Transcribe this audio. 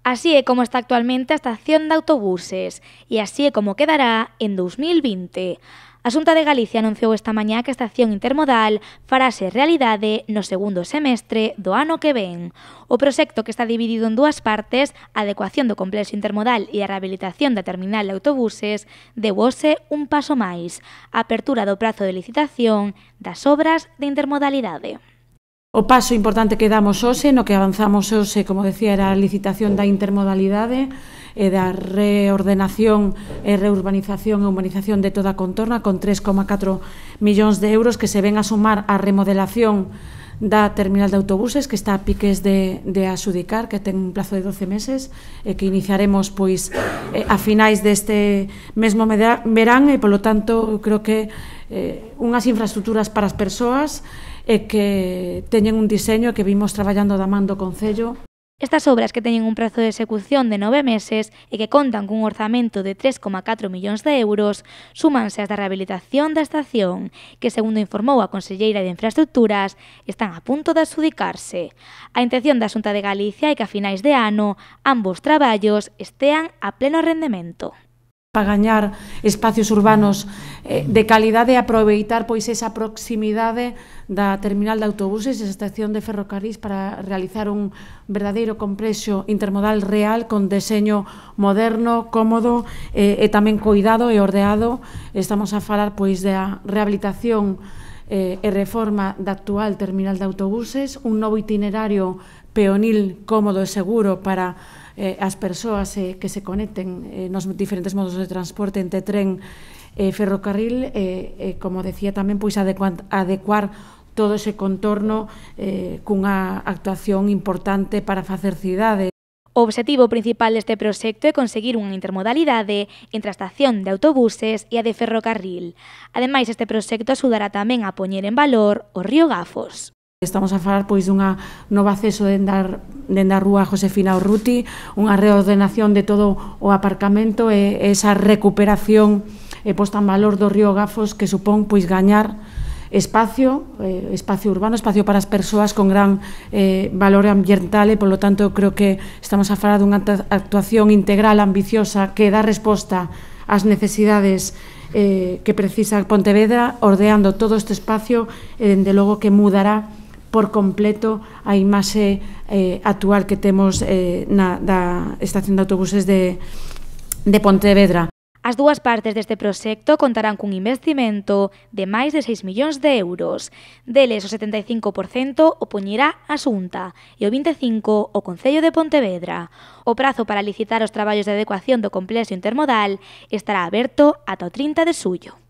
Así é como está actualmente a estación de autobuses e así é como quedará en 2020. A Xunta de Galicia anunciou esta mañá que a estación intermodal farase realidade no segundo semestre do ano que ven. O proxecto, que está dividido en dúas partes, a adecuación do complexo intermodal e a rehabilitación da terminal de autobuses, deuse un paso máis, a apertura do prazo de licitación das obras de intermodalidade. O paso importante que damos hoxe, no que avanzamos hoxe, como decía, era a licitación da intermodalidade e da reordenación e reurbanización e humanización de toda a contorna con 3,4 millóns de euros que se ven a sumar á remodelación da terminal de autobuses que está a piques de adxudicar, que ten un plazo de 12 meses e que iniciaremos pois a finais deste mesmo verán e, polo tanto, creo que unhas infraestructuras para as persoas e que teñen un diseño que vimos traballando da man do Concello. Estas obras, que teñen un prazo de execución de 9 meses e que contan cun orzamento de 3,4 millóns de euros, súmanse ás da rehabilitación da estación, que, segundo informou a conselleira de Infraestructuras, están a punto de adxudicarse. A intención da Xunta de Galicia é que a finais de ano ambos traballos estean a pleno rendemento. Para gañar espacios urbanos de calidade e aproveitar pois esa proximidade da terminal de autobuses e a estación de ferrocarrís para realizar un verdadeiro complexo intermodal real con deseño moderno, cómodo e tamén coidado e ordeado. Estamos a falar pois da rehabilitación e reforma da actual terminal de autobuses, un novo itinerario peonil, cómodo e seguro para as persoas que se conecten nos diferentes modos de transporte entre tren e ferrocarril, como decía tamén, pois adecuar todo ese contorno cunha actuación importante para facer cidade. O obxectivo principal deste proxecto é conseguir unha intermodalidade entre a estación de autobuses e a de ferrocarril. Ademais, este proxecto axudará tamén a poñer en valor o río Gafos. Estamos a falar pois dunha nova acceso dende a rúa Josefina Urruti, unha reordenación de todo o aparcamento e esa recuperación e posta en valor do río Gafos, que supón pois gañar espacio urbano, espacio para as persoas con gran valor ambiental e, polo tanto, creo que estamos a falar dunha actuación integral, ambiciosa, que dá resposta ás necesidades que precisa Pontevedra, ordeando todo este espacio e, dende logo, que mudará por completo a imaxe actual que temos da estación de autobuses de Pontevedra. As dúas partes deste proxecto contarán cun investimento de máis de 6 millóns de euros. Deles, o 75% o poñerá a Xunta e o 25% o Concello de Pontevedra. O prazo para licitar os traballos de adecuación do complexo intermodal estará aberto ata o 30 de xullo.